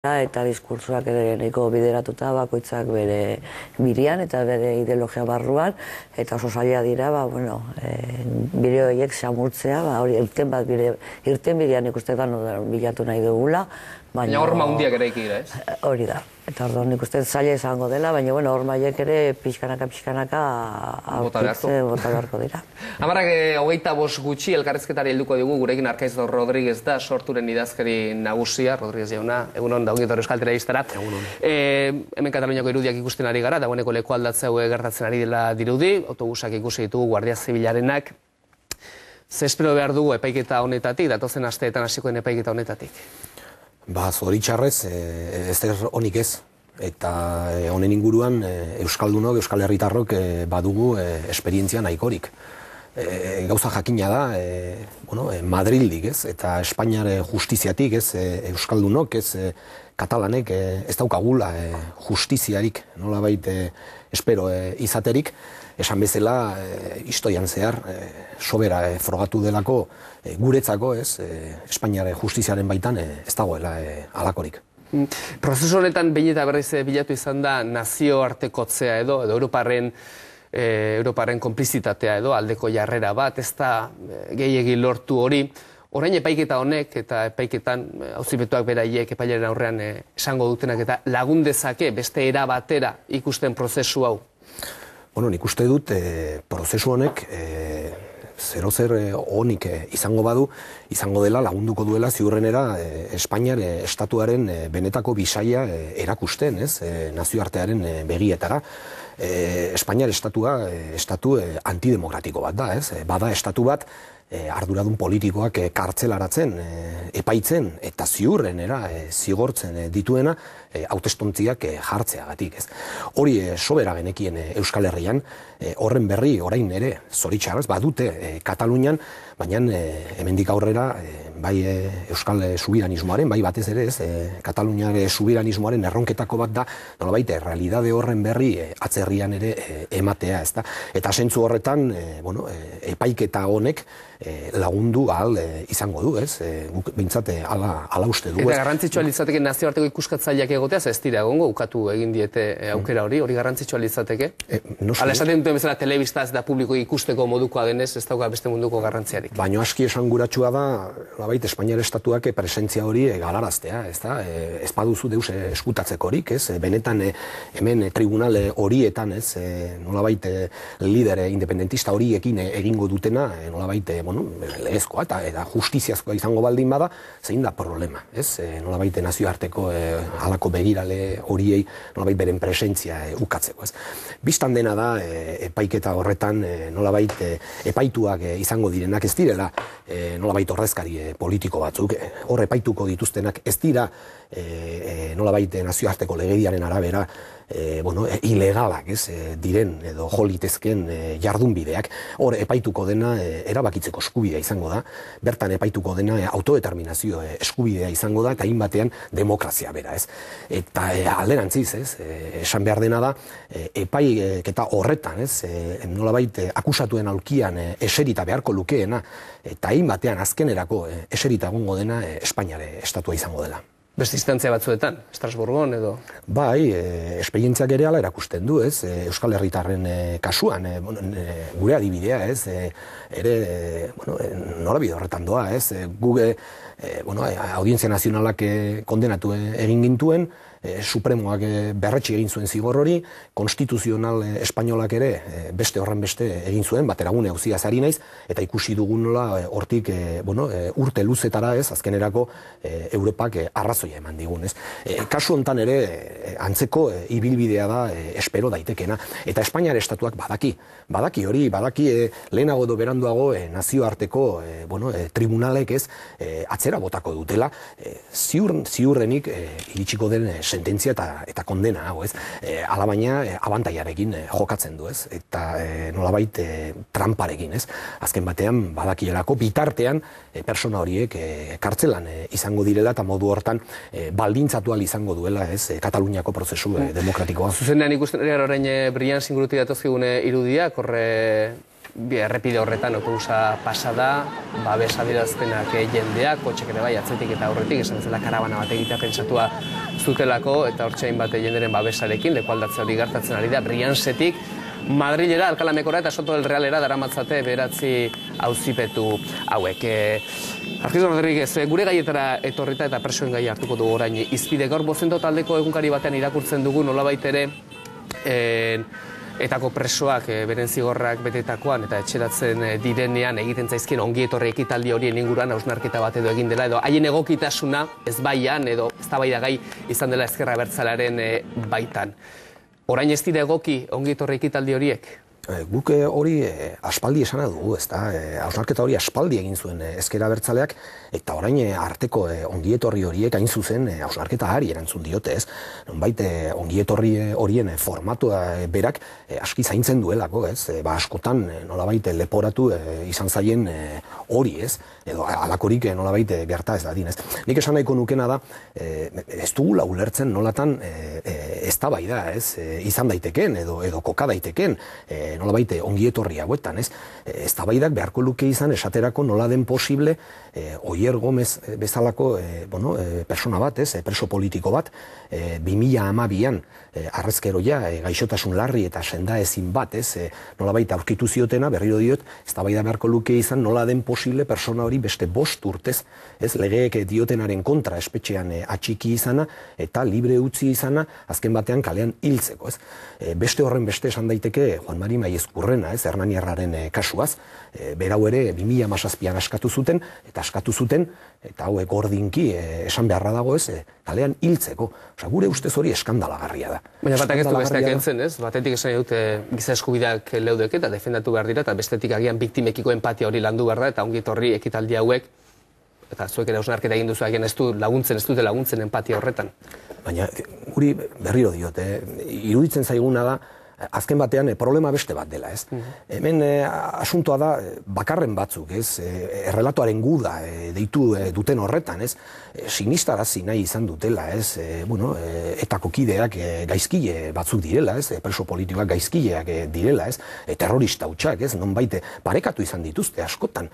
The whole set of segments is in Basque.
eta diskurtsoak ere nahiko bideratuta bakoitzak bere birian eta bere ideologia barruan, eta oso zaila dira, bide horiek samurtzea, hori irten bidean ikustetan bilatu nahi dugula. Baina horma hundiak ere ikira, ez? Hori da. Eta orduan nik uste zaila izango dela, baina hormaiek ere pixkanaka bota beharko dira. Amarak 25 gutxi elkarrizketari helduko dugu, gurekin Arkaiz Rodríguez da, sorturen idazkari nagusia, Rodríguez jauna, egunon, da ongitor euskal telebistara. Hemen Kataluniako irudiak ikusten ari gara, dagoeneko leku aldatzea gertatzen ari dela dirudi, autobusak ikusi ditugu Guardia Zibilarenak. Ze espero behar dugu epaiketa honetatik, datozen asteetan hasikoen epaiketa honetatik? Zoritxarrez, ez honik ez. Eta honen inguruan Euskaldunok, Euskal Herritarrok badugu esperientzia nahikorik. Gauza jakina da, Madrildik ez, eta Espainiar justiziatik ez, Euskaldunok ez, Katalanek ez daukagula justiziarik, nolabait espero izaterik, esan bezala historian zehar, sobera frogatu delako guretzako ez, Espainiar justiziaren baitan ez dagoela halakorik. Prozesu honetan behin eta berriz bilatu izan da nazioartekotzea edo Europaren konplizitatea edo aldeko jarrera bat, ez da gehiegi lortu hori. Orain epaiketa honek eta epaiketan auzipetuak beraiek epailaren aurrean esango dutenak eta lagun dezake beste era batera ikusten prozesu hau? Nik uste dut prozesu honek zer honik izango badu, izango dela lagunduko duela ziurrenera Espainiar estatuaren benetako bisaia erakusten, nazioartearen begietara. Espainiar estatu antidemokratiko bat da, bada estatu bat arduradun politikoak kartzelaratzen, epaitzen eta ziurrenera zigortzen dituena hautestontziak jartzeagatik. Hori sobera genekien Euskal Herrian, horren berri orain ere zoritxarrez badute Katalunian, baina hemendik aurrera bai Euskal subiranismoaren, bai batez ere Kataluniar subiranismoaren erronketako bat da, nolabait realidade horren berri atzerrian ere ematea. Eta zentzu horretan epaiketa honek lagundu ahal izango du, guk behintzat ala uste du. Eta garrantzitsua litzateke nazioarteko ikuskatzaileak egotea, ez dira egongo, ukatu egin diete aukera hori garrantzitsua litzateke? Hala esaten duten bezala telebista ez da publiko ikusteko modukoa denez, ez dauka beste munduko garrantziarik. Baina aski esanguratsua da, Espainiar estatuak presentzia hori galaraztea, ez baduzu deus eskutatzekorik, benetan hemen tribunal horietan, nolabait lider independentista horiekin egingo dutena, nolabait legezkoa eta justiziazkoa izango baldin bada, zein da problema, nolabait nazioarteko halako begirale horiei nolabait beren presentzia ukatzeko. Bistan dena da, epaiketa horretan nolabait epaituak izango direnak ez direla, nolabait ordezkari politiko batzuk, hor epaituko dituztenak ez dira nolabait nazioarteko legediaren arabera ilegalak diren edo jolitezken jardunbideak, hor epaituko dena erabakitzeko eskubidea izango da, bertan epaituko dena autodeterminazio eskubidea izango da, eta hainbatean demokrazia bera. Eta alderantziz, esan behar dena da, epaiketa horretan, nolabait akusatuen aulkian eserita beharko lukeena, eta hainbatean azkenerako eserita egongo dena Espainiar estatua izango dela. Beste instantzia batzuetan, Estrasburgon edo? Bai, esperientziak ere ala erakusten du, Euskal Herritarren kasuan, gure adibidea, ere norabide horretan doa, Google, Audientzia Nazionalak kondenatu egin gintuen, Supremoak berretsi egin zuen zigor hori, konstituzional espainolak ere beste horren beste egin zuen, bateragune auziaz ari naiz, eta ikusi dugun nola hortik urte luzetara azkenerako Europak arrazoia eman digun. Kasu hontan ere antzeko ibilbidea da espero daitekena, eta Espainiar estatuak badaki hori, lehenago edo beranduago nazioarteko tribunalek atzera botako dutela, ziurrenik iritsiko den sententzia eta kondena hau, alabaina abantaiarekin jokatzen du, eta nolabait tramparekin, azken batean badakielako bitartean persona horiek kartzelan izango direla eta modu hortan baldintzatu ahal izango duela Kataluniako prozesu demokratikoa. Zuzenean ikusten ari orain Brian Singurutik datozkigune irudiak, horre errepide horretan autobusa pasada, babes adierazpenak jendeak, kotxek ere bai, atzetik eta aurretik, esan bezala karabana bat egitea pentsatua zutelako, eta hortxein bat jenderen babesarekin, lekualdatze hori gertatzen ari da, Briansetik, Madrilera, Alcalamekora eta Soto del Realera daramatzate 9 auzipetu hauek. Arkiz Rodríguez, gure gaietara etorrita eta presoen gai hartuko dugu orain izpide. Gaur Bozento taldeko egunkari batean irakurtzen dugu nolabait ere etako presoak beren zigorrak betetakoan eta etxeratzen direnean egiten zaizkien ongi etorri ekitaldi horien inguruan hausnarketa bat edo egin dela edo haien egokitasuna ezbaian edo eztabaidagai izan dela Ezker Abertzalearen baitan. Orain ez dira egoki ongi etorri ekitaldi horiek? Guk hori aspaldi esana dugu, ezta? Hausnarketa hori aspaldi egin zuen Ezker Abertzaleak, eta orain arteko ongietorri horiek hain zuzen hausnarketa hari erantzun diote, ez? Nonbait ongietorri horien formatua berak aski zaintzen duelako, ez? Askotan nolabait leporatu izan zaien hori, ez? Edo alakorik nolabait gerta ez dadin, ez? Nik esan nahiko nukena da, ez dugula ulertzen nolatan eztabaida, ez? Izan daiteken edo koka daiteken, nolabait ongietorri hauetan, ez? Eztabaidak beharko luke izan esaterako nola den posible Oier Gomez bezalako persona bat, ez? Preso politiko bat, 2012an arrezkeroia gaixotasun larri eta senda ezin bat, ez? Nolabait aurkitu ziotena, berriro diot, eztabaida beharko luke izan nola den posible persona hori beste 5 urtez, ez? Legeek diotenaren kontra espetxean atxiki izana eta libre utzi izana azken batean kalean hiltzeko, ez? Beste horren beste esan daiteke Juan Mari Maiezkurrena, ez? Hernaniarraren kasuaz, berau ere 2017an askatu zuten, eta hauek gordinki esan beharra dago, ez? Kalean hiltzeko. Gure ustez hori eskandalagarria da. Baina batak ez du besteak entzen, ez? Batetik esan dute giza eskubideak leudek eta defendatu behar dira, eta bestetik agian biktimekiko empatia hori landu behar da, eta ongi etorri ekitaldi hauek, eta zuek ere hausnarketa egin duzu agian ez dute laguntzen empatia horretan. Baina guri berriro diote, iruditzen zaiguna da, azken batean problema beste bat dela, ez? Hemen asuntoa da bakarren batzuk, ez? Errelatoaren guda deitu duten horretan, ez? Sinistarazi nahi izan dutela, ez? Etako kideak gaizkile batzuk direla, ez? Preso politikoak gaizkileak direla, ez? Terrorista hutsak, ez? Nonbait parekatu izan dituzte askotan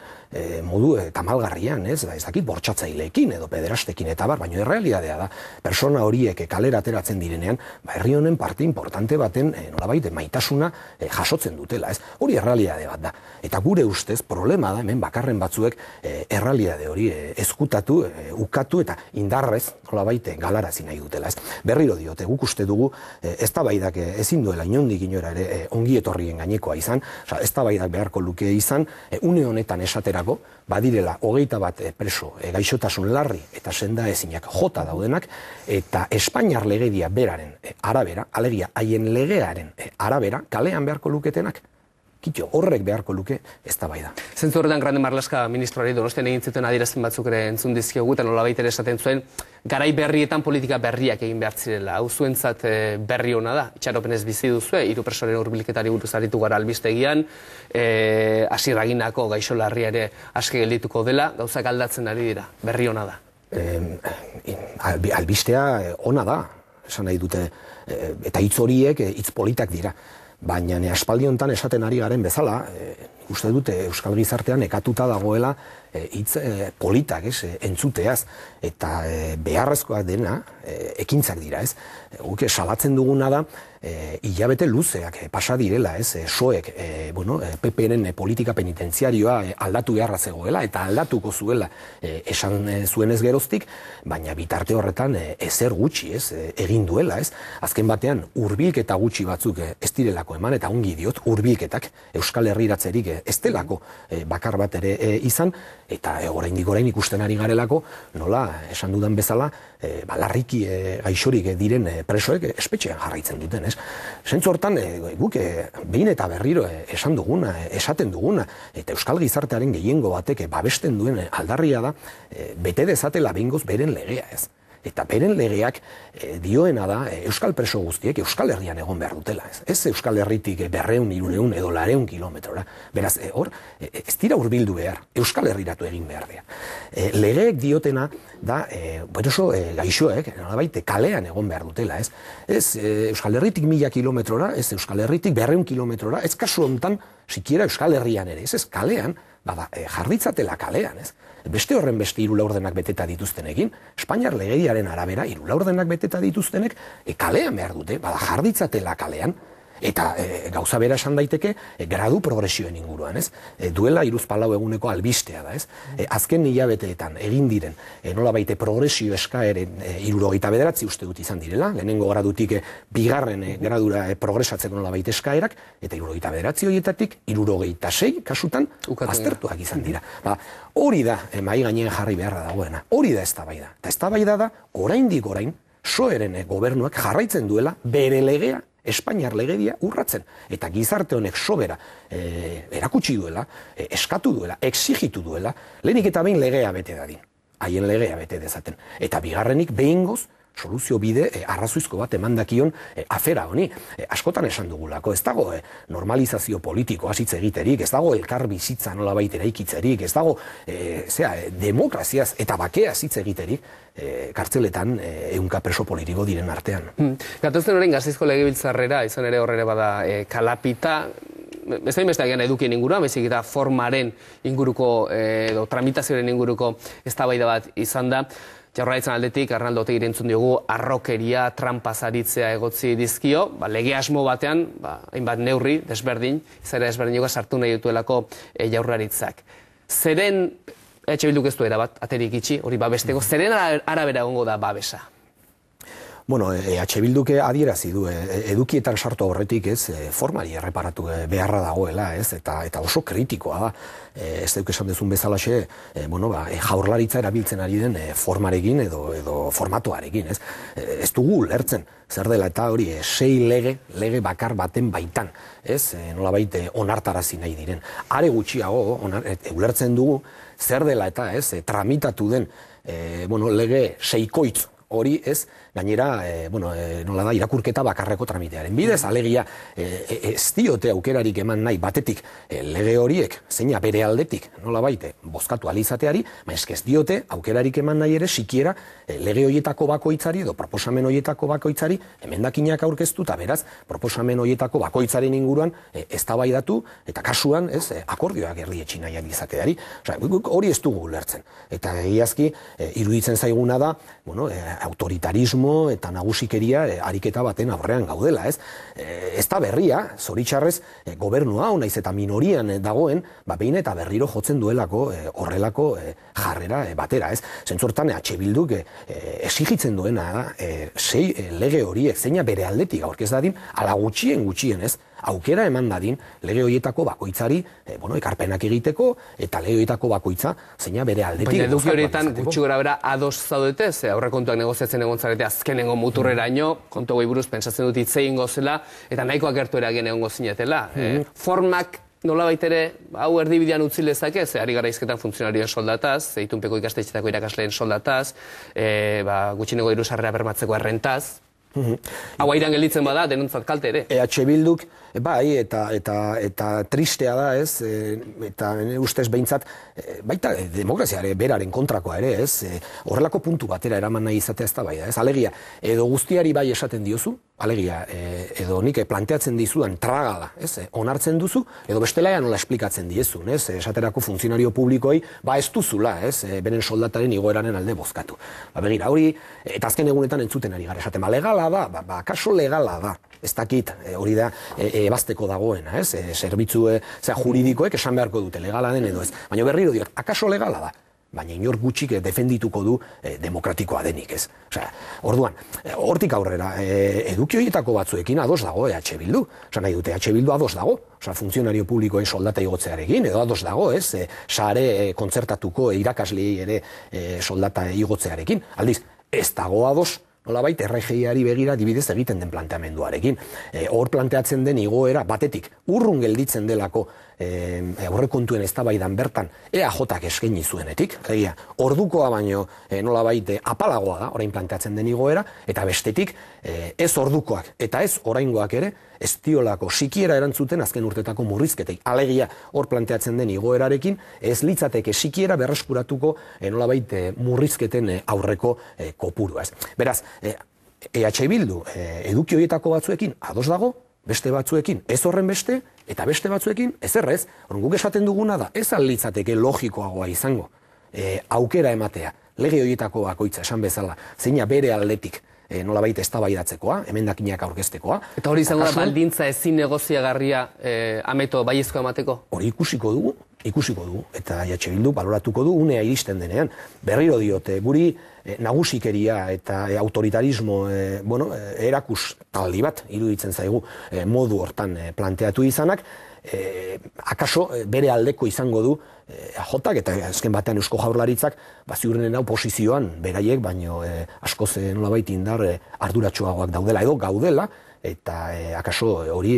modu tamalgarrian, ez? Ez dakit bortxatzaileekin edo pederastekin eta bar, baina errealitatea da, persona horiek kalera ateratzen direnean, herri honen parte importante baten nolabait maitasuna jasotzen dutela, ez? Hori errealitate bat da. Eta gure ustez problema da hemen bakarren batzuek errealitate hori ezkutatu, ukatu eta indarrez nolabait galarazi nahi dutela, ez? Berriro diote, guk uste dugu eztabaidak ezin duela inondik inora ere ongi etorrien gainekoa izan, eztabaidak beharko luke izan, une honetan esaterako, badirela 21 preso gaixotasun larri eta senda ezinak jota daudenak, eta Espainiar legedia beraren arabera, alegia haien legearen arabera, kalean beharko luketenak, kitxo, horrek beharko luke eztabaida. Zentzu horretan Grande Marlaska ministroari Donostian egin zuten adierazpen batzuk ere entzun dizkiogu, eta nolabait ere esaten zuen, garai berrietan politika berriak egin behar zirela. Hau zuentzat berri hona da, itxaropenez bizi duzue, 3 presoren hurbilketari buruz aritu gara albistegian, Asier Aginako gaixo larria ere aske geldituko dela, gauzak aldatzen ari dira, berri hona da. Albistea ona da, esan nahi dute, eta hitz horiek hitz politak dira. Baina aspaldi honetan esaten ari garen bezala, uste dute Euskal Gizartean ekatuta dagoela hitz politak, entzuteaz, eta beharrezkoak dena ekintzak dira, ez? Guk salatzen duguna da, hilabete luzeak pasa direla, ez? Soek, PP-ren politika penitentziarioa aldatu beharra zegoela, eta aldatuko zuela esan zuenez geroztik, baina bitarte horretan ezer gutxi, ez? Egin duela, ez? Azken batean, hurbilketa gutxi batzuk ez direlako eman, eta ongi diot, hurbilketak Euskal Herriratzerik ez delako bakar bat ere izan, eta oraindik ikusten ari garelako, nola, esan dudan bezala, larriki gaixorik diren presoek espetxean jarraitzen duten, ez? Zentzu hortan, guk behin eta berriro esaten duguna, eta Euskal Gizartearen gehiengo batek babesten duen aldarria da, bete dezatela behingoz beren legea, ez? Eta beren legeak dioena da Euskal preso guztiek Euskal Herrian egon behar dutela. Ez Euskal Herritik 200, 300 edo 400 kilometrora. Beraz, hor, ez dira hurbildu behar, Euskal Herriratu egin behar dira. Legeek diotena da, gaixoek, nolabait, kalean egon behar dutela. Ez Euskal Herritik 1000 kilometrora, ez Euskal Herritik 200 kilometrora, ez kasu honetan, sikiera Euskal Herrian ere, ez kalean, jarditzatela kalean, ez? Beste horren beste 3 laurdenak beteta dituztenekin, Espainiar legediaren arabera 3 laurdenak beteta dituztenek kalean behar dute, jarditzatela kalean, eta gauza bera esan daiteke gradu progresioen inguruan, ez? Duela 3-4 eguneko albistea da, ez? Azken hilabeteetan egin diren nolabait progresio eskaeren 79 uste dut izan direla, lehenengo gradutik bigarren gradura progresatzeko nolabait eskaerak, eta 79 horietatik 76 kasutan aztertuak izan dira. Hori da mahai gainean jarri beharra dagoena, hori da eztabaida. Eta eztabaida da oraindik orain PSOE-ren gobernuak jarraitzen duela bere legea, Espainiar legedia urratzen. Eta gizarte honek sobera erakutsi duela, eskatu duela, exigitu duela, lehenik eta behin legea bete dadin. Haien legea bete dezaten. Eta bigarrenik behingoz, soluzio bide arrazoizko bat emandakion afera honi. Askotan esan dugulako, ez dago normalizazio politiko hasitz egiterik, ez dago elkar bizitza nolabait eraikitzerik, ez dago demokraziaz eta bakeaz hitz egiterik, kartzeletan ehunka preso politiko diren artean. Gatozen orain Gasteizko legebiltzarrera, izan ere horrere bada kalapita, ez da inbestean edukien inguruan, baizik eta formaren inguruko, edo tramitazioaren inguruko eztabaida bat izan da. Jaurlaritzan aldetik, Arnaldo Otegi entzun diogu, arrokeria, trampazaritzea egotzi dizkio, lege asmo batean, hainbat neurri, desberdin, izaera desberdin sartu nahi dutuelako Jaurlaritzak. Zeren, Bilduk ez du erabat, aterik itxi, hori babesteko, zeren arabera egongo da babesa? Bueno, Bilduk adierazi du, edukietan sartu horretik, ez, formari erreparatu beharra dagoela, ez, eta oso kritikoa da. Ez duk esan dezun bezalaxe, Jaurlaritza erabiltzen ari den formarekin edo formatuarekin, ez. Ez dugu ulertzen, zer dela eta hori 6 lege bakar baten baitan, ez, nolabait onartarazi nahi diren. Are gutxiago, ulertzen dugu, zer dela eta, ez, tramitatu den, lege 6koitz hori, ez, gainera, nola da, irakurketa bakarreko tramitearen bidez, alegia ez diote aukerarik eman nahi batetik lege horiek, zeina bere aldetik, nola baite, bozkatu alizateari, ez diote aukerarik eman nahi ere sikiera lege horietako bakoitzari edo proposamen horietako bakoitzari emendakinak aurkeztu, eta beraz, proposamen horietako bakoitzaren inguruan eztabaidatu eta kasuan, ez, akordioak erdietsi nahiak izateari. Hori ez dugu ulertzen. Eta egiazki, iruditzen zaiguna da, autoritarismo eta nagusikeria ariketa baten aurrean gaudela, ez? Ez da berria, zoritxarrez, gobernu hau naiz eta minorian dagoen, behin eta berriro jotzen duelako horrelako jarrera batera, ez? Zentzortan, Bilduk exigitzen duena, 6 lege horiek zeina bere aldetik aurkez dadin, ala gutxien, ez? Aukera eman dadin lege horietako bakoitzari ekarpenak egiteko eta lege horietako bakoitza zeina bere aldetik. Baina eduki horietan gutxi gora bera ados zaudete, aurrekontuak negoziatzen egon zarete azkenengo muturreraino, kontu goi buruz pentsatzen dut hitzein gozela, eta nahikoa gertu eragen egon gozinetela. Formak nolabait ere, hau erdibidean utzi lezake, ari gara izketan funtzionarioen soldataz, itunpeko ikastetxetako irakasleen soldataz, gutxineko diru sarrera bermatzeko errentaz. Hau airan gelditzen bada, denontzat kalte ere. Bilduk, bai, eta tristea da, ez, eta ustez behintzat, baita demokraziare beraren kontrakoa ere, ez, horrelako puntu batera eraman nahi izatea ez da bai da, ez, alegia, edo guztiari bai esaten diozu, alegia, edo nik planteatzen dizudan tragala, ez, onartzen duzu, edo bestelaia nola esplikatzen diezun, ez, esaterako funtzionario publikoei, ez duzula, ez, beren soldataren igoeraren alde bozkatu. Begira, hori, eta azken egunetan entzuten ari gara esaten, legala da, kaso legala da, ez dakit, hori da, ebazteko dagoena, ez, zerbitzu juridikoek esan beharko dute, legala den edo ez, baina berriro diot, akaso legala da, baina inor gutxik defendituko du demokratikoa denik, ez. Orduan, hortik aurrera, eduki horietako batzuekin ados dago Bildu, nahi dute Bildu ados dago, funtzionario publikoen soldata igotzearekin, edo ados dago, ez, sare kontzertatuko irakaslei ere soldata igotzearekin, aldiz, ez dago ados, nolabait, RGIari begira dibidez egiten den planteamenduarekin. Hor planteatzen den igoera batetik urrun gelditzen delako aurrekontuen eztabaidan bertan EAJak eskaini zuenetik, ordukoa baino nolabait apalagoa da orain planteatzen den igoera, eta bestetik ez ordukoak eta ez oraingoak ere ez diolako sikiera erantzuten azken urtetako murrizketei. Alegia hor planteatzen den igoerarekin ez litzateke sikiera berreskuratuko nolabait murrizketen aurreko kopurua. Beraz, Bildu eduki horietako batzuekin ados dago, beste batzuekin ez horren beste, eta beste batzuekin ezerrez. Guk esaten duguna da, ez alitzateke logikoagoa izango, aukera ematea, lege horietako bakoitza esan bezala, zeina bere aldetik, nolabait eztabaidatzekoa, emendakinak aurkeztekoa. Eta hori izango da baldintza ezin negoziagarria ameto baiezkoa emateko? Hori ikusiko dugu, eta EH Bildu baloratuko du unea iristen denean. Berriro diote, guri nagusikeria eta autoritarismo erakus taldi bat iruditzen zaigu modu hortan planteatu izanak, akaso bere aldeko izango du jotak eta azken batean Eusko Jaurlaritzak ziurrenen oposizioan beraiek, baino askoz nolabait indar arduratsuagoak daudela edo gaudela, eta akaso hori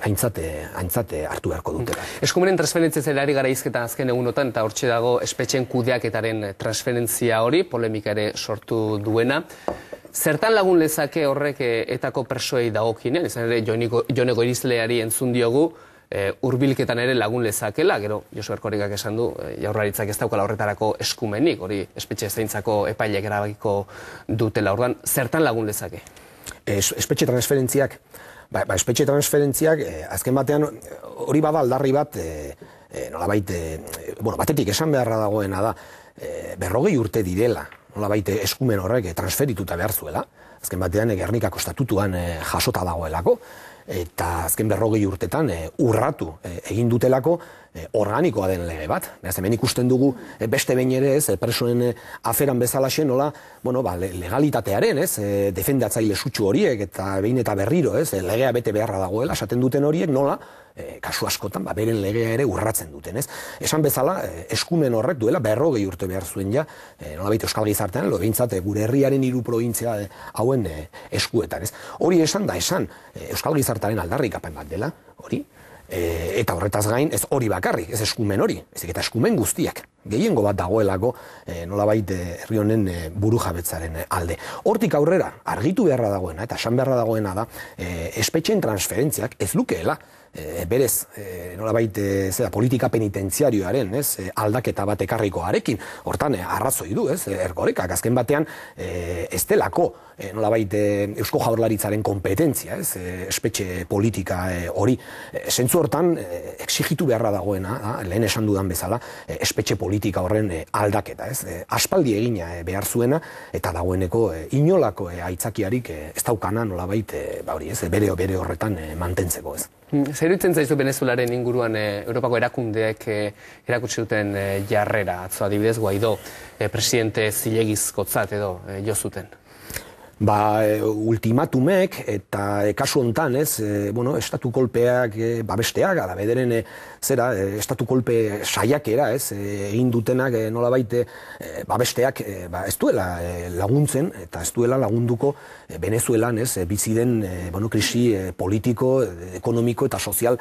aintzate hartu beharko dutela. Eskumenen transferentzia zelari gara izketan azken egunotan, eta hortxe dago espetxen kudeaketaren transferentzia hori, polemika ere sortu duena. Zertan lagun lezake horrek etako persoei dagokinen, izan ere Jone Goirizeleari entzun diogu, hurbilketan ere lagun lezakela, gero Josu Erkorikak esan du, Jaurlaritzak ez daukala horretarako eskumenik, hori espetxe zaintzako epaileek erabakiko dutela. Orduan, zertan lagun lezake? Espetxe transferentziak, azken batean hori bada aldarri bat, nolabait, batetik esan beharra dagoena da, 40 urte direla, nolabait eskumen horrek transferituta behar zuela, azken batean Gernikako estatutuan jasota dagoelako, eta azken 40 urtetan urratu egin dutelako organikoa den lege bat. Beraz, hemen ikusten dugu beste behin ere ez, presoen aferan bezalaxe nola, legalitatearen defendatzaile sutsu horiek eta behin eta berriro legea bete beharra dagoela, esaten duten horiek nola, kasu askotan, beren legea ere urratzen duten. Esan bezala, eskumen horrek duela 40 urte behar zuen ja, nolabait Euskal Gizartean, behintzat gure herriaren 3 probintzia hauen eskuetan. Hori esan da esan, Euskal Gizartearen aldarrikapen bat dela, hori, eta horretaz gain, ez hori bakarrik, ez eskumen hori, ezik eta eskumen guztiak. Gehiengo bat dagoelako nolabait herri honen burujabetzaren alde. Hortik aurrera, argitu beharra dagoena, eta esan beharra dagoena da, espetxeen transferentziak ez lukeela, berez, nolabait politika penitentziarioaren aldaketa bat ekarrikoarekin, hortan arrazoi du, Erkorekak, azken batean ez delako nolabait Eusko Jaurlaritzaren kompetentzia, espetxe politika hori, zentzu hortan exigitu beharra dagoena, lehen esan dudan bezala, espetxe politika horren aldaketa, aspaldi egina behar zuena, eta dagoeneko inolako aitzakiarik ez daukana nolabait bere horretan mantentzeko, Zer iruditzen zaizu Venezuelaren inguruan Europako erakundeek erakutsi duten jarrera, atzo adibidez Guaidó presidente zilegizkotzat edo jo zuten? Ultimatumek eta kasu hontan, estatu kolpeak babesteak, ala bederen estatu kolpe saiakera, egin dutenak nolabait babesteak ez duela laguntzen eta ez duela lagunduko Venezuelan bizi den krisi politiko, ekonomiko eta sozial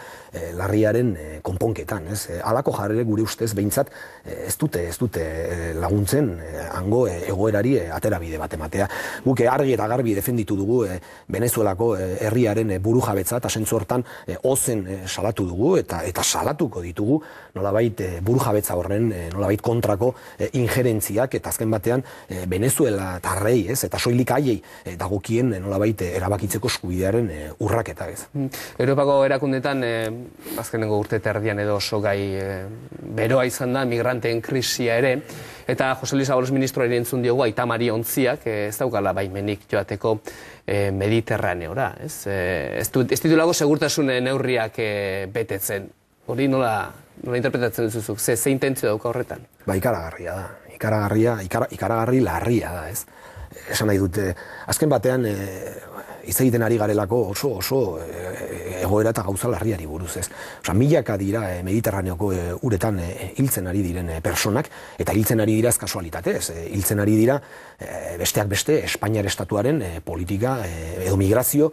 larriaren konponketan. Halako jarrere gure ustez behintzat ez dute laguntzen hango egoerari aterabide bat ematea. Guk argi eta garbi defenditu dugu Venezuelako herriaren burujabetza eta zentzu hortan ozen salatu dugu eta salatuko ditugu nolabait burujabetza horren nolabait kontrako injerentziak eta azken batean Venezuela tarrei eta soilik haiei dagokien nolabait erabakitzeko eskubidearen urraketa. Europako erakundetan azkenengo urte terdian edo oso gai beroa izan da migranteen krisia ere, eta Jose Luis Ábalos ministroari entzun diogu Aita Mari Ontziak ez daukala baimenik joateko Mediterraneora. Ez ditulako segurtasun neurriak betetzen. Hori nola interpretatzen duzuzuk? Ze intentzio dauka horretan? Ikaragarria da. Ikaragarri larria da, Esan nahi dute, azken batean hitz egiten ari garelako oso egoera eta gauza larriari buruz, milaka dira Mediterraneoko uretan hiltzen ari diren personak, eta hiltzen ari dira ez kasualitatez, hiltzen ari dira besteak beste Espainiar estatuaren politika edo migrazio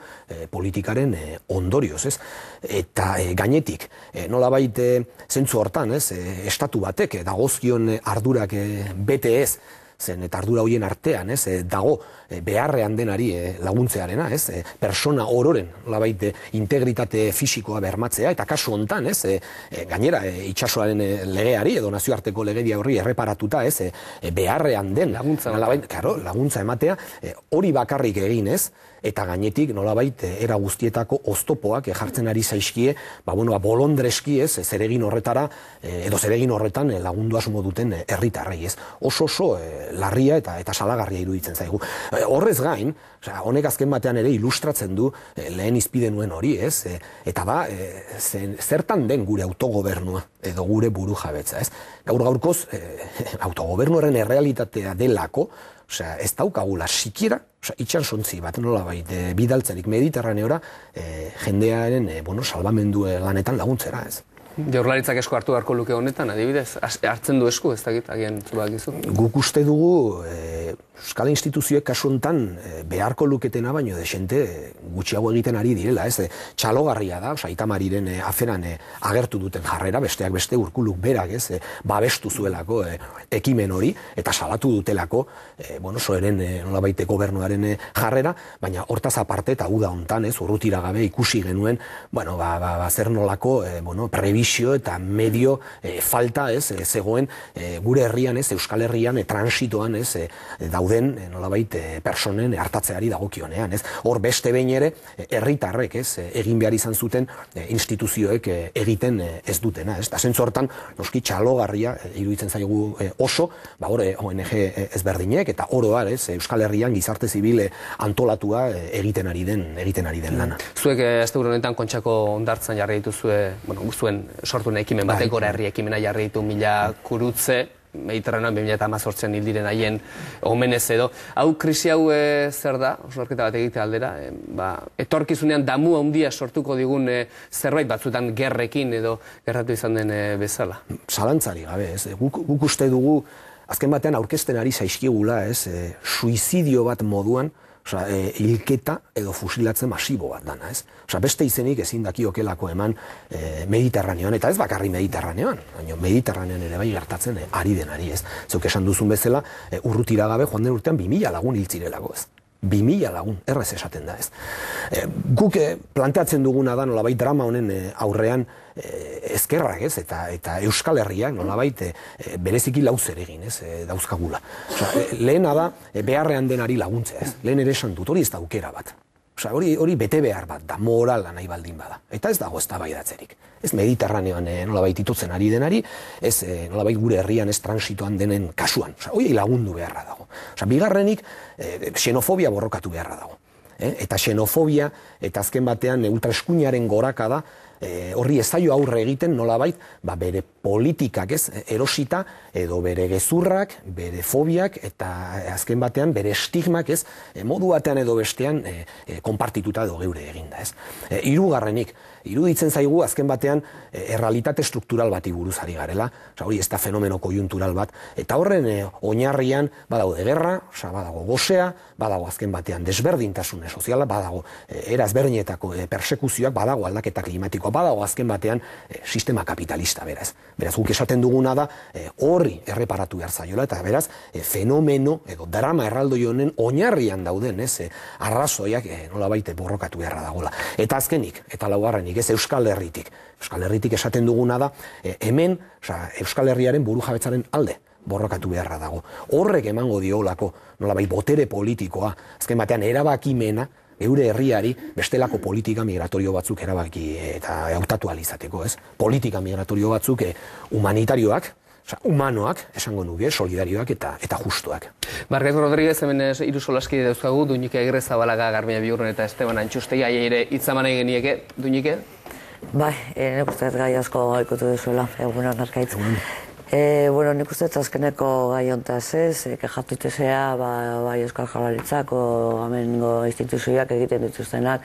politikaren ondorioz, eta gainetik nolabait zentzu hortan, estatu batek dagozkion ardurak bete ez, zen eta ardura horien artean, dago beharrean denari laguntzearena, persona ororen nolabait integritate fisikoa bermatzea, eta kasu hontan, gainera itsasoaren legeari edo nazioarteko legedia horri erreparatuta, beharrean den laguntza ematea, hori bakarrik egin, eta gainetik nolabait era guztietako oztopoak jartzen ari zaizkie, bolondreski zeregin horretara edo zeregin horretan lagundu asmo duten herritarrei, oso larria eta salagarria iruditzen zaigu. Horrez gain, honek azken batean ere ilustratzen du lehen izpide nuen hori, eta zertan den gure autogobernua edo gure burujabetza, gaur-gaurkoz autogobernuaren errealitatea delako, ez daukagula sikiera itxasontzi bat nolabait bidaltzerik Mediterraneora jendearen salbamendu lanetan laguntzera, Jaurlaritzak esku hartu beharko luke honetan, adibidez, hartzen du esku, ez dakit, agian zubakizu? Guk uste dugu Euskal instituzioek kasu honetan beharko luketena baino desente gutxiago egiten ari direla, txalogarria da, Itamariren aferan agertu duten jarrera, besteak beste Urkuluk berak, babestu zuelako ekimen hori, eta salatu dutelako, soeren nolabait gobernuaren jarrera, baina hortaz aparte eta uda hontan, urrutira gabe ikusi genuen, zer nolako prebizio eta medio falta zegoen gure herrian, Euskal Herrian transitoan dauden nolabait personen hartatzeari dagokionean, hor beste behin ere herritarrek egin behar izan zuten instituzioek egiten ez dutena, eta zentzu hortan noski txalogarria iruditzen zaigu oso, ONG ezberdinek eta oro har Euskal Herrian gizarte zibil antolatua egiten ari den lana. Zuek asteburu honetan Kontxako hondartzan jarri dituzue, zuen sortuen ekimen batek, Gora Herri ekimena jarri ditu 1000 kurutze, Mediterranean 2018an hil diren haien omenez edo. Hau, krisi hau zer da, osnarketa bat egite aldera, etorkizunean damu handia sortuko digun zerbait batzutan gerrekin edo gerratu izan den bezala? Zalantzari gabe, guk uste dugu, azken batean aurkezten ari zaizkigula, suizidio bat moduan, hilketa edo fusilatze masibo bat dana, beste izenik ezin dakiokelako eman Mediterraneoan, eta ez bakarri Mediterraneoan, baina Mediterranean ere bai gertatzen ari denari, zeuk esan duzun bezala, urrutira gabe joan den urtean 2000 lagun hiltzirelako, 2000 lagun, errez esaten da, Guk planteatzen duguna da nolabait drama honen aurrean ezkerrak, eta Euskal Herriak nolabait bereziki lauzer egin, dauzkagula. Lehena da beharrean denari laguntzea, lehen ere esan dut, hori ez da aukera bat. Hori bete behar bat da, morala nahi baldin bada. Eta ez dago eztabaidatzerik. Ez Mediterraneoan nolabait itotzen ari denari, ez nolabait gure herrian ez transitoan denen kasuan. Hori lagundu beharra dago. Bigarrenik, xenofobia borrokatu beharra dago. Eta xenofobia, eta azken batean ultraeskuinaren goraka da, horri ez zaio aurre egiten nolabait, bere politikak erosita, edo bere gezurrak, bere fobiak, eta azken batean bere estigmak modu batean edo bestean konpartituta edo geure eginda. Hirugarrenik, iruditzen zaigu azken batean errealitate struktural bati buruz ari garela, hori ez da fenomeno kojuntural bat, eta horren oinarrian badago gerra, badago gosea, badago azken batean desberdintasune soziala, badago era ezberdinetako persekuzioak, badago aldaketa klimatikoa, badago azken batean sistema kapitalista, beraz. Beraz, guk esaten duguna da horri erreparatu behar zaiola, eta beraz, fenomeno edo drama erraldoi honen oinarrian dauden, arrazoiak nolabait borrokatu beharra dagoela. Eta azkenik, eta laugarrenik, Euskal Herritik. Euskal Herritik esaten duguna da, hemen Euskal Herriaren burujabetzaren alde borrokatu beharra dago. Horrek emango diolako nolabait botere politikoa, azken batean erabakimena, geure herriari bestelako politika migratorio batzuk erabaki eta hautatu ahal izateko, politika migratorio batzuk humanitarioak, humanoak, esango nuke, solidarioak eta justuak. Margaret Rodríguez, hemen hiru solaskide dauzkagu, Duñike Agirrezabalaga, Garbiñe Biurrun eta Esteban Antxustegi, ere hitzaman egin genieke, Duñike? Bai, nik uste gai asko ikutu duzuela, egunon arkaitz. Nik uste azkeneko gai hontaz kexatu itezea, bai Euskal Jaurlaritzako amengo instituzioak egiten dituztenak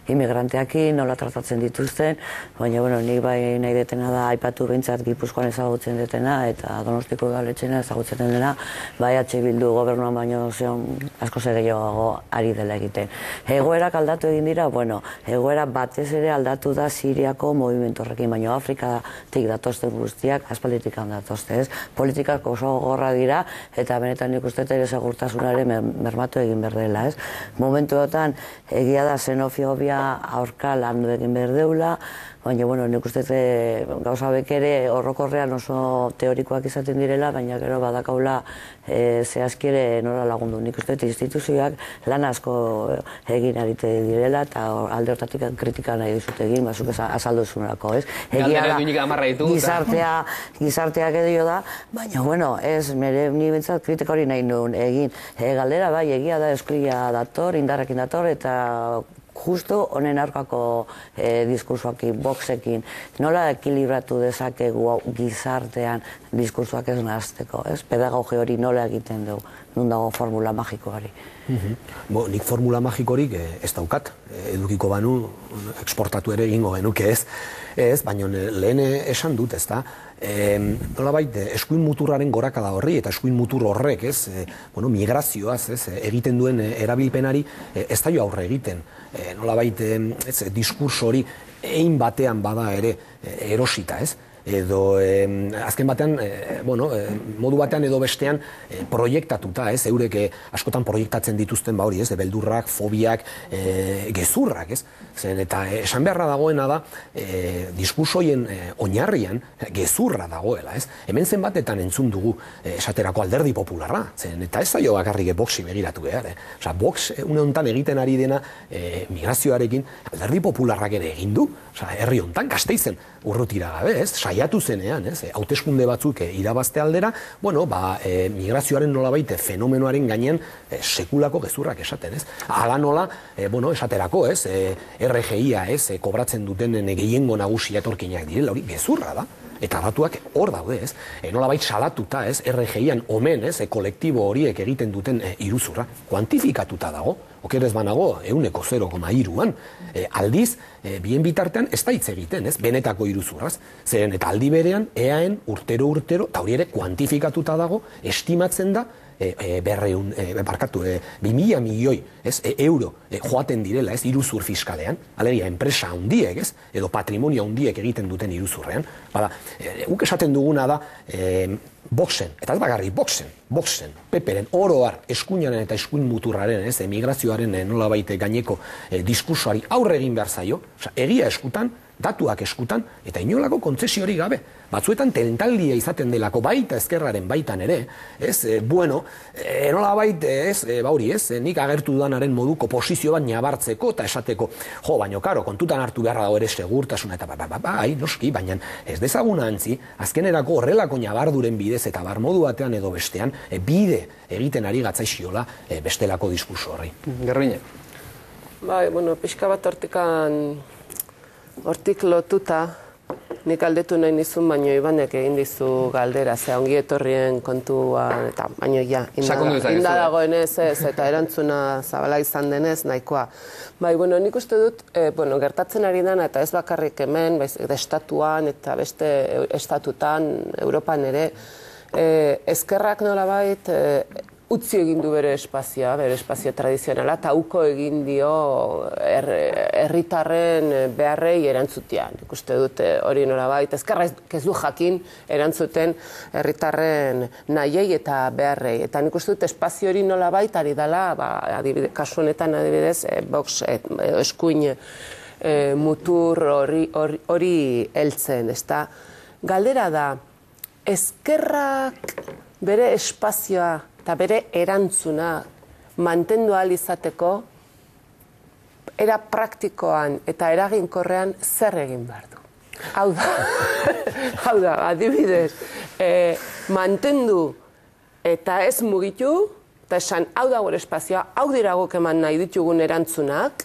inmigranteakin, nola tratatzen dituzten, baina nik bai nahi detena da aipatu behintzat Gipuzkoan ezagutzen detena eta Donostiko udaletxena ezagutzen dena, bai Bildu gobernuan baino asko gehiago ari dela egiten. Egoerak aldatu egin dira, egoera batez ere aldatu da Siriako movimentu horrekin, baina Afrikatik datozten guztiak aspalditik handatu. zatozte, ez? Politikak oso gogorra dira, eta benetan nik uste ere segurtasunaren mermatu egin behar dela, ez? Momentuotan, egia da xenofobia aurka landu egin behar deula, baina, bueno, nik uste gauza bekere horrokorrean oso teorikoak izaten direla, baina gero badakaula zehazkire nola lagundu. Nik uste instituzioak lan asko egin arite direla, eta alde hortatik kritika nahi dizut egin, bazuk azaldu zunako, ez? Egia da, gizarteak edo da, baina, bueno, ez, ni bentsat kritika hori nahi nuen egin. Galdera, bai, egia da esklia dator, indarrekin dator, eta justo honen aurkako diskursoakin, boxekin, nola ekilibratu dezakegu gizartean diskursoak ez nahazteko, ez? Pedagogi hori nola egiten dugu, nun dago formula magikoari. Nik formula magikorik ez daukat, edukiko banu, eksportatu ere egingo genuke ez, baina lehen esan dut, ez da, nolabait, eskuin muturraren gorakada horri, eta eskuin mutur horrek, migrazioaz, egiten duen erabilpenari, ez da jo aurre egiten. Nolabait, diskurso hori egin batean bada ere erosita, ez? Edo azken batean, modu batean edo bestean proiektatuta, ez? Eurek askotan proiektatzen dituzten hori, ez? Beldurrak, fobiak, gezurrak, ez? Eta esan beharra dagoena da, diskursoien oinarrian gezurra dagoela, ez? Hemen zenbatetan entzun dugu esaterako Alderdi Popularra, eta ez zaio bakarrik boxi begiratu behar, Osa, box une honetan egiten ari dena migrazioarekin Alderdi Popularrak ere egin du, herri honetan, Gasteizen urrutira gabe, ez? Saiatu zenean, ez? Hauteskunde batzuk irabazte aldera, migrazioaren nolabait fenomenoaren gainean sekulako gezurrak esaten, ez? Hala nola, esaterako, ez? RGIa, ez? Kobratzen duten gehiengo nagusia etorkinak direla, hori gezurra da. Eta datuak hor daude, ez? Nolabait salatuta, ez? RGIan omen, ez? Kolektibo horiek egiten duten iruzurra, kuantifikatuta dago, okerez banago, 0,3an. Aldiz, bien bitartean ez da hitz egiten, ez? Benetako iruzurraz. Zeren, eta aldi berean, EAen urtero, eta hori ere kuantifikatuta dago, estimatzen da, 2.000 milioi euro joaten direla, ez, iruzur fiskalean, alegia, enpresa handiek, ez, edo patrimonio handiek egiten duten iruzurrean. Bada, guk esaten duguna da, boxen, eta ez bagarri, boxen, peperen, oroar, eskuinaren eta eskuin muturraren, ez, migrazioaren nolabait gaineko diskursoari aurre egin behar zaio, egia eskutan, datuak eskutan, eta inolako kontzesiorik gabe. Batzuetan tentaldia izaten delako baita ezkerraren baitan ere, ez, nolabait, ez, nik agertu dudanaren moduko posizio bat nabartzeko eta esateko, baina, karo, kontutan hartu beharra dago ere segurtasuna, eta noski, baina ez dezaguna antzi, azkenerako horrelako nabarduren bidez eta barmodu batean edo bestean, bide egiten ari gatzaiziola bestelako diskurso horri. Gerriñe. Pixka bat hortik lotuta, nik galdetu nahi nizun, baino Ibanek egin dizu galdera, ze ongi etorrien kontuan, eta baino inda dagoenez ez, eta erantzuna zabala izan denez, nahikoa. Nik uste dut, gertatzen ari dena, eta ez bakarrik hemen, estatuan, eta beste estatutan, Europan ere, ezkerrak nolabait, utzi egin du bere espazio tradizionala, eta uko egin dio herritarren beharrei erantzutean. Ikuste dut hori nolabait, ezkerra ez du jakin erantzuten herritarren nahiei eta beharrei. Eta nik uste dut espazio hori nolabait ari dela, kasu honetan adibidez, box, eskuin mutur hori heltzen. Galdera da, ezkerrak bere espazioa eta bere erantzuna mantendu ahal izateko, era praktikoan eta eraginkorrean zer egin behar du. Hau da, adibidez, mantendu eta ez mugitu, eta esan, hau da gure espazioa, hau dira guk eman nahi ditugun erantzunak,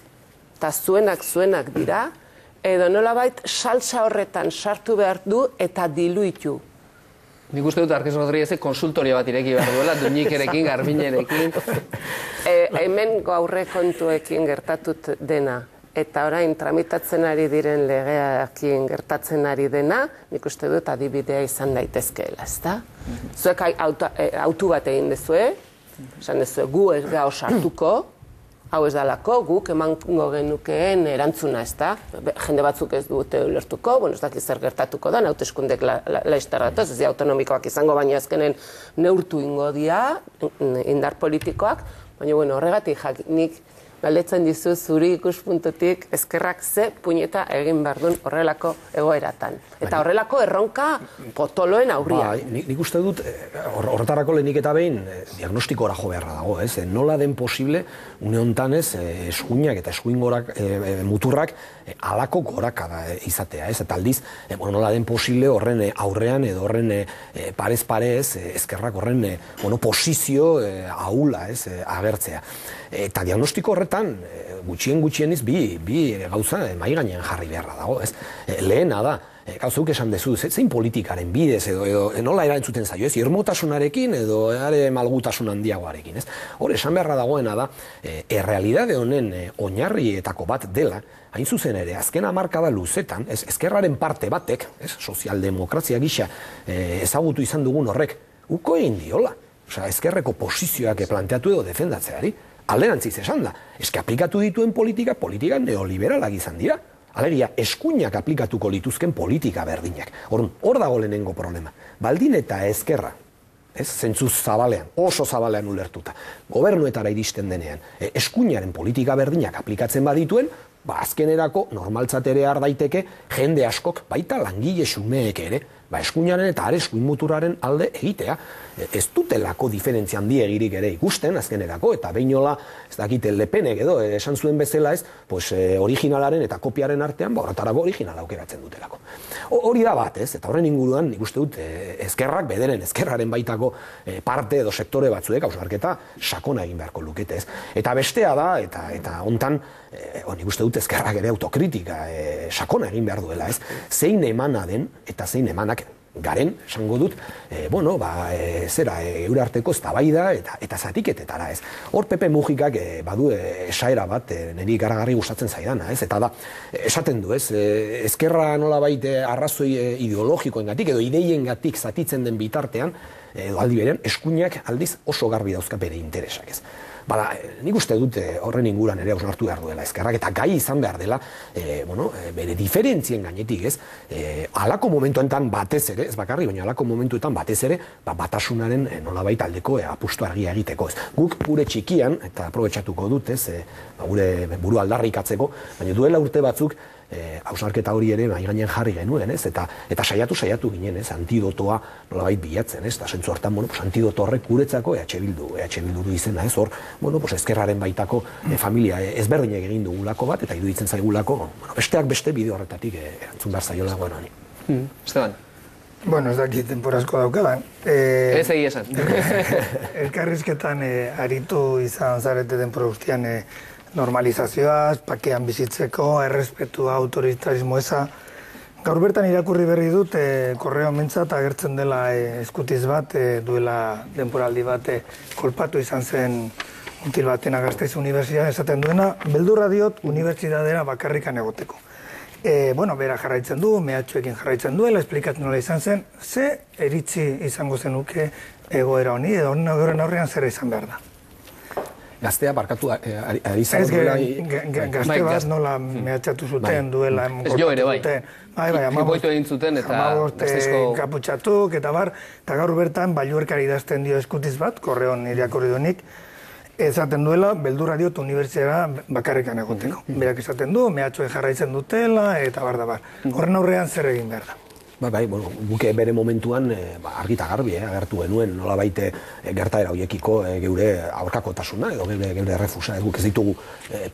eta zuenak dira, edo nolabait salsa horretan sartu behar du eta diluitu. Nik uste dut Arkiz Rodríguezek konsultoria bat ireki behar duela, Duñikerekin, Garbiñerekin. Hemen gaurre kontuekin gertatut dena, eta orain tramitatzen ari diren legeakin gertatzen ari dena, nik uste dut adibidea izan daitezkeela, ezta? Zuek autu bat egin dezue, esan dezue gu ez gau sartuko, hau ez dalako, guk emango genukeen erantzuna, ez da? Jende batzuk ez dute ulertuko, ez dakit zer gertatuko da, hauteskundek laizterratuz, ez autonomikoak izango, baina azkenen neurtu ingo dira, indar politikoak, baina horregatik nik galdetzen dizu zuri ikuspuntutik ezkerrak ze puñeta egin behar duen horrelako egoeratan. Eta horrelako erronka potoloen aurrian. Nik uste dut, horretarako lehenik eta behin, diagnostikora jo beharra dago, ez? Nola den posible, une honetan ez, eskuinak eta eskuin muturrak alako gorakada izatea, ez? Eta aldiz, nola den posible horren aurrean edo horren parez parez, ezkerrak horren posizio ahula, ez, agertzea. Eta diagnostiko horretan, gutxieniz bi gauza mahai gainean jarri beharra dago, ez? Lehena da, gauzuk esan dezu, zein politikaren bidez edo nola erantzuten zaio, ez? Irmotasunarekin edo malgutasun handiagoarekin, ez? Hor, esan beharra dagoena da, errealidade honen oinarrietako bat dela, hain zuzen ere, azken hamarkada luzetan, ezkerraren parte batek, sozialdemokrazia gisa ezagutu izan dugun horrek, uko egin diola. Ezkerreko posizioak planteatu edo defendatzeari. Alderantziz esan da, aplikatu dituen politika neoliberalak izan dira. Alegia, eskuinak aplikatuko lituzken politika berdinak. Hor dago lehenengo problema. Baldin eta ezkerra, zentzuz zabalean, oso zabalean ulertuta, gobernuetara iristen denean, eskuinaren politika berdinak aplikatzen badituen, azkenerako normaltzatere daiteke jende askok, baita langile xumeek ere, eskuinaren eta eskuin muturaren alde egitea. Ez dutelako diferentzia handiegirik ere ikusten azkenerako, eta behinola, ez dakite Lepenek edo, esan zuen bezala ez, originalaren eta kopiaren artean, horretarako originala aukeratzen dutelako. Hori da bat, ez? Eta horren inguruan, nik uste dut, ezkerrak, bederen ezkerraren baitako parte edo sektore batzuek, hausnarketa sakona egin beharko lukete, ez? Eta bestea da, eta hontan, nik uste dut ezkerrak ere autokritika sakona egin behar duela, ez? Zein emana den, eta zein emanak garen, esango dut, eure arteko eztabaida eta zatiketetara, ez. Hor Pepe Mujikak badu esaera bat, niri garagarri gustatzen zaidana, ez. Eta da, esaten du, ez, ezkerra nolabait arrazoi ideologikoengatik edo ideiengatik zatitzen den bitartean, edo aldi berean, eskuinak aldiz oso garbi dauzka bere interesak, ez. Bada, nik uste dut horren inguran ere hausnartu behar duela ezkerrak, eta gai izan behar dela, bere diferentzien gainetik, ez, halako momentuetan batez ere, ez bakarri, baina halako momentuetan batez ere, batasunaren nolabait aldeko apustu argia egiteko, ez. Guk gure txikian, eta aprobetxatuko dut, ez, gure buru aldarrikatzeko, baina duela urte batzuk, hausnarketa hori ere mahai gainean jarri genuen, ez, eta saiatu ginen, ez, antidotoa nolabait bilatzen, ez, eta zentzu hartan, antidoto horrek guretzako EH Bildu izena, ez, hor, ezkerraren baitako familia ezberdinek egin dugulako bat, eta iruditzen zaigulako, besteak beste bideo horretatik erantzun behar zaiola goen honi. Esteban? Bueno, ez dakit temporazko daukadan. Ez egi esan. Elkarrizketan aritu izan zarete denpora guztian normalizazioaz, pakean bizitzeko, errespetua, autoritarismo eza. Gaur bertan irakurri berri dut, korreo mentzat agertzen dela eskutiz bat, duela denporaldi bat kolpatu izan zen mutil batena Gasteiz Unibertsitatean esaten duena, beldurra diot unibertsitatera bakarrikan egoteko. Bera jarraitzen du, mehatxuekin jarraitzen duela, esplikatzen nola izan zen, ze eritzi izango zenuke egoera honi, edo horren aurrean zera izan behar da. Gaztea barkatu ari zago duela... Gazte bat nola mehatxatu zuten duela... Ez jo ere bai. Boitu egin zuten eta... Amaboste kaputxatuk eta bar, eta gaur bertan bailuerkari idazten dio eskutiz bat, korreon irakurri duenik, esaten duela, beldurra diot unibertsitatera bakarrikan egoteko. Berak esaten du, mehatxuen jarraitzen dutela eta bar da bar. Horren aurrean zer egin behar da. Guke bere momentuan argita garbi agertu genuen nolabait gertaera horiekiko geure aurkakotasuna edo geure errefusa, guk ez ditugu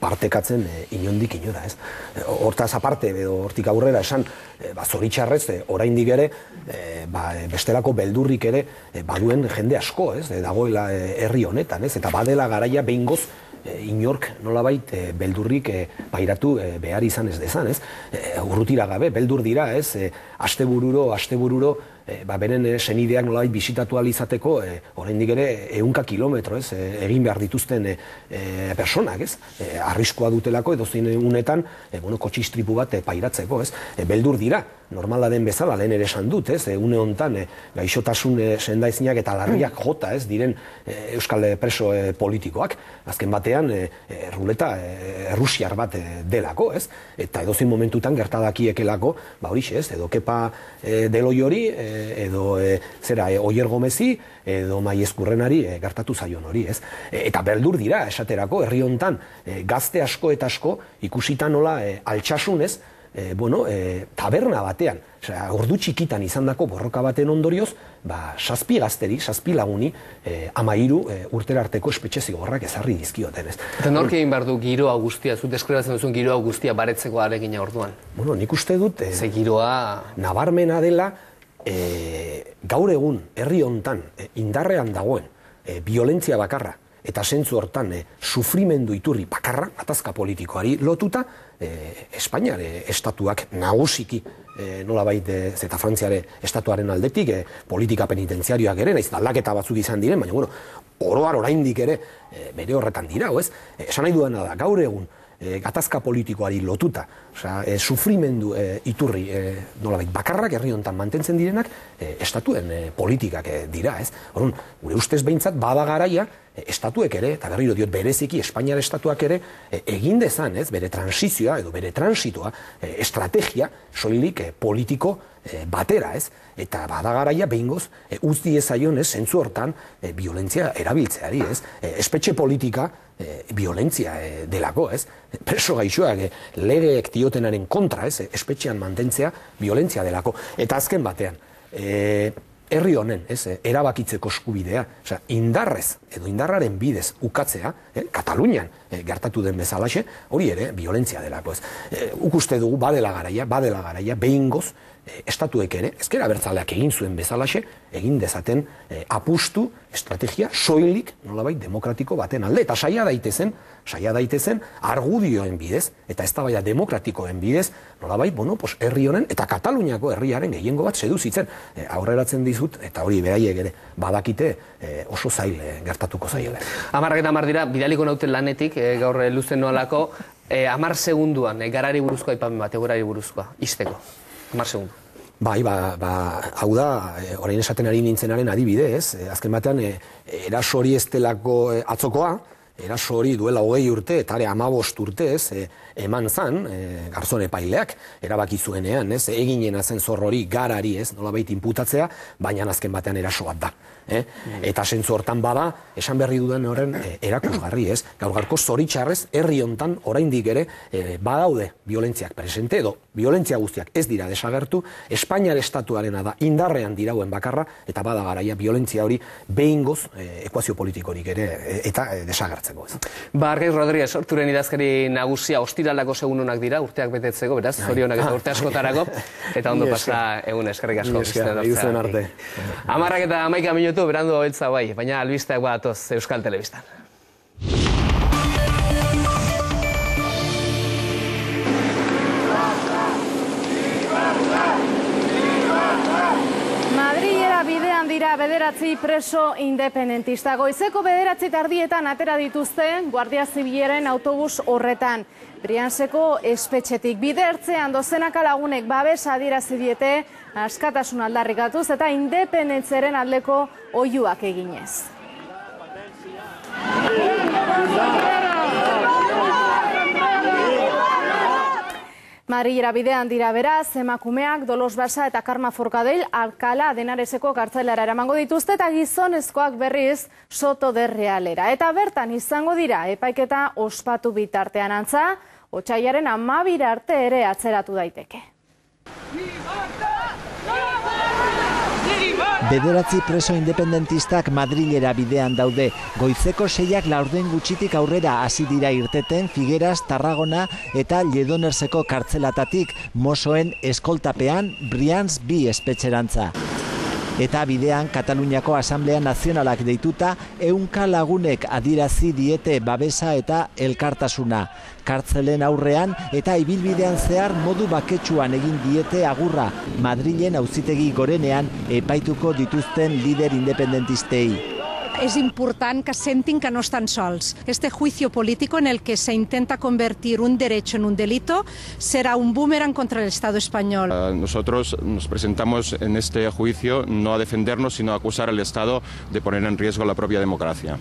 partekatzen inondik inora, ez. Hortaz aparte, hortik aurrera esan, zoritxarrez, oraindik ere, bestelako beldurrik ere baduen jende asko, ez, dagoela herri honetan, ez, eta badela garaia behingoz inork nolabait beldurrik pairatu behar izan ez dezan, ez? Urrutira gabe, beldur dira, ez? Astebururo beren senideak nolabait bisitatu ahal izateko, oraindik ere 100 kilometro, egin behar dituzten personak, arriskoa dutelako edozein unetan, kotxistripu bat pairatzeko, beldur dira, normala den bezala, lehen ere esan dut, une hontan gaixotasun sendaezinak eta larriak jota, diren euskal preso politikoak, azken batean ruleta errusiar bat delako, eta edozein momentutan gertadakiekelako, horixe, edo Kepa Deloi hori, edo Oier Gomezi, edo Maiezkurrenari gertatu zaion hori, Eta beldur dira, esaterako, herri hontan gazte asko eta asko ikusita nola altxasunez, taberna batean, ordu txikitan izandako borroka baten ondorioz, 7 gazteri, 7 laguni, 13 urtera arteko espetxe zigorrak ezarri dizkioten. Eta nork egin behar du giroa guztia, zu deskribatzen duzun giroa guztia baretzeko aregina orduan? Nik uste dut, ze giroa nabarmena dela, gaur egun herri hontan indarrean dagoen violentzia bakarra, eta zentzu hortan sufrimendu iturri bakarra, gatazka politikoari lotuta, Espainiar estatuak nagusiki nolabait eta Frantziare estatuaren aldetik politika penitentziarioak ere, naiz aldaketa batzuk izan diren, baina oroar oraindik ere bere horretan dira, esan nahi duena da, gaur egun gatazka politikoari lotuta, sufrimendu iturri nolabait bakarrak herri hontan mantentzen direnak estatuen politikak dira, Orduan, gure ustez behintzat bada garaia estatuek ere, eta berriro diot bereziki Espainiar estatuak ere, egin dezan, bere transizioa edo bere transitoa, estrategia soilik politiko batera, eta bada garaia behingoz utz diezaion, zentzu hortan violentzia erabiltzeari, espetxe politika violentzia delako, preso gaixoak legeek diotenaren kontra, espetxean mantentzea violentzia delako, eta azken batean herri honen, erabakitzeko eskubidea, indarrez edo indarraren bidez ukatzea, Katalunian gertatu den bezalaxe, hori ere violentzia delako. Uste dugu badela garaia, behingoz, estatuek ere, ezker abertzaleak egin zuen bezalaxe, egin dezaten apustu, estrategia, soilik, nolabait, demokratiko baten alde, eta saia daitezen argudioen bidez, eta eztabaida demokratikoen bidez, nolabait, herri honen, eta Kataluniako herriaren gehiengo bat seduzitzen, aurreratzen dizut, eta hori beraiek ere, badakite oso zail gertatuko zaiela. 10 dira, bidaliko nauten lanetik, gaur luzen noalako, 10 segunduan, garari buruzkoa aipamen bat, egorari buruzkoa, izteko. 10 segundu. Hau da, orain esaten ari nintzenaren adibide, azken batean, eraso hori ez delako atzokoa, eraso hori duela 20 urte, eta 15 urte, eman zan, garzon epaileak, erabaki zuenean, eginen zen zor hori garari, nolabait inputatzea, baina azken batean eraso bat da. Eta zentzu hortan bada, esan berri duden horren erakusgarri, gaur gaurko zoritxarrez, herri hontan oraindik ere badaude violentziak presente, edo violentzia guztiak ez dira desagertu, Espainiar estatuarena da indarrean dirauen bakarra, eta bada garaia violentzia hori behingoz ekuazio politikorik ere eta desagertzeko. Argaiz Rodríguez, sorturen idazkari nagusia, ostiralako segununak dira, urteak betetzeko, beraz, zorionak eta urte askotarako, eta ondo pasa egun, eskerrik asko. 10 minutu berandu beltza bai, baina albisteak badatoz Euskal Telebistan. Madrilera bidean dira 9 preso independentista. Goizeko 9:30 atera dituzte Guardia Zibilaren autobus horretan. Brianseko espetxetik bidertzean dozenaka lagunek babes adierazi diete askatasun aldarrikatuz eta independentzaren aldeko oihuak eginez. Madrilera bidean dira beraz, emakumeak Dolos Basa eta Karma Forcadell Alcalá de Henareseko kartzelara eramango dituzte eta gizonezkoak berriz Soto de Realera. Eta bertan izango dira epaiketa ospatu bitartean, antza, otsailaren 12 arte ere atzeratu daiteke. 9 preso independentistak Madrilera bidean daude. Goizeko 6 laurden gutxitik aurrera hasi dira irteten Figueras, Tarragona eta Lledonerseko kartzelatatik, Mosoen eskoltapean Brians 2 espetxerantza. Eta bidean Kataluniako Asamblea Nazionalak deituta 100 lagunek adirazi diete babesa eta elkartasuna. Kartzelen aurrean eta ibilbidean zehar modu baketsuan egin diete agurra Madrilen Auzitegi Gorenean epaituko dituzten lider independentistei. Es important que sentin que no están sols. Este juicio político en el que se intenta convertir un derecho en un delito será un boomerang contra el Estado español. Nosotros nos presentamos en este juicio no a defendernos, sino a acusar al Estado de poner en riesgo la propia democracia.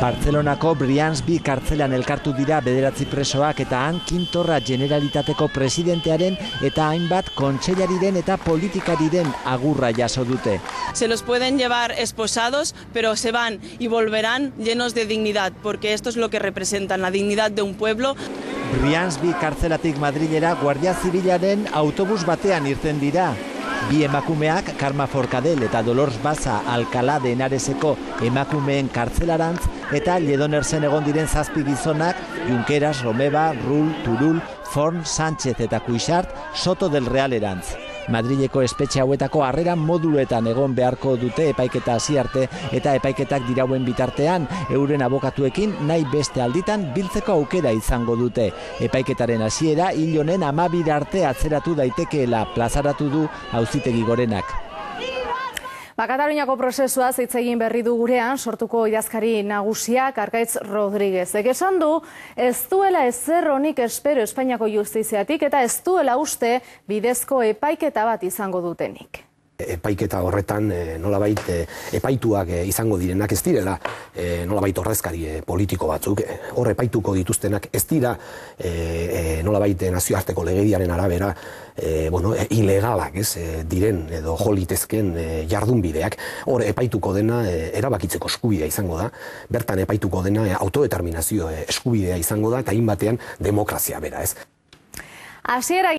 Bartzelonako Brians-bi kartzelan elkartu dira 9 presoak eta han Quintorra Generalitateko presidentearen eta hainbat kontseilariren eta politikariren agurra jaso dute. Se los pueden llevar esposados, pero se van y volverán llenos de dignidad, porque esto es lo que representan, la dignidad de un pueblo. Brians-bi kartzelatik Madrilera Guardia Zibilaren autobus batean irten dira. Bi emakumeak Karma Forcadell eta Dolors Baza Alcalá de Henareseko emakumeen kartzelarantz eta Lledonersen egon diren 7 gizonak Junqueras, Romeva, Rull, Turull, Forn, Sánchez eta Cuixart Soto del Realerantz. Madrileko espetxe hauetako harrera moduluetan egon beharko dute epaiketa hasi arte eta epaiketak dirauen bitartean euren abokatuekin nahi beste alditan biltzeko aukera izango dute. Epaiketaren hasiera hil honen 12 arte atzeratu daitekeela plazaratu du Auzitegi Gorenak. Kataluniako prozesua hitz egin berri du gurean sortuko idazkari nagusiak Arkaitz Rodriguez. Esan du ez duela ezer onik espero Espainiako justiziatik eta ez duela uste bidezko epaiketa bat izango dutenik. Epaiketa horretan nolabait epaituak izango direnak ez direla nolabait ordezkari politiko batzuk. Hor epaituko dituztenak ez dira nolabait nazioarteko legediaren arabera ilegalak diren edo jolitezken jardunbideak. Hor epaituko dena erabakitzeko eskubidea izango da. Bertan epaituko dena autodeterminazio eskubidea izango da eta hainbatean demokrazia bera. Hasiera